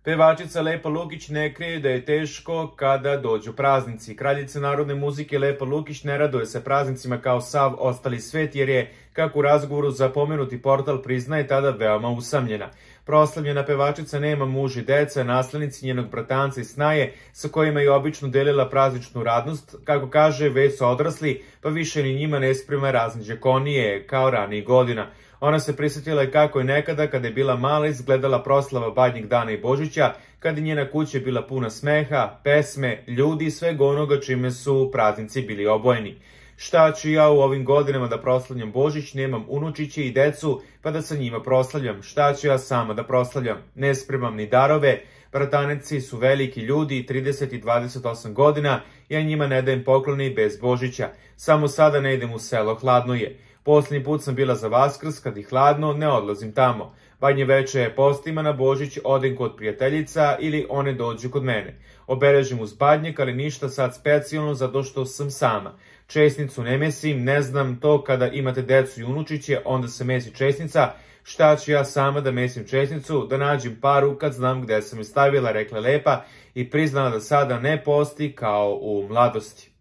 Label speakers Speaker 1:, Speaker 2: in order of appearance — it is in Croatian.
Speaker 1: Pevačica Lepa Lukić ne krije da je teško kada dođu praznici. Kraljica narodne muzike Lepa Lukić ne raduje se praznicima kao sav ostali svet jer je, kako u razgovoru za pomenuti portal priznaje, tada veoma usamljena. Proslavljena pevačica nema muž i deca, naslednici njenog bratanca i snaje sa kojima je obično delila prazničnu radnost. Kako kaže, već su odrasli, pa više ni njima ne sprema razne đakonije kao ranijih godina. Ona se prisjetila i kako je nekada, kada je bila mala, izgledala proslava Badnjeg dana i Božića, kada je njena kuća bila puna smeha, pesme, ljudi i svega onoga čime su praznici bili obojeni. Šta ću ja u ovim godinama da proslavljam Božić, nemam unučiće i decu, pa da sa njima proslavljam. Šta ću ja sama da proslavljam? Ne spremam ni darove, brataneci su veliki ljudi, 30 i 28 godina, ja njima ne dajem poklone i bez Božića. Samo sada ne idem u selo, hladno je. Posljednji put sam bila za Vaskrs, kad je hladno, ne odlazim tamo. Badnje veče postima na Božić, odem kod prijateljica ili one dođu kod mene. Obeležim uz Badnjak, ali ništa sad specijalno zato što sam sama. Česnicu ne mesim, ne znam to kada imate decu i unučiće, onda se mesi česnica. Šta ću ja sama da mesim česnicu, da nađem paru kad znam gde sam je stavila, rekla Lepa i priznala da sada ne posti kao u mladosti.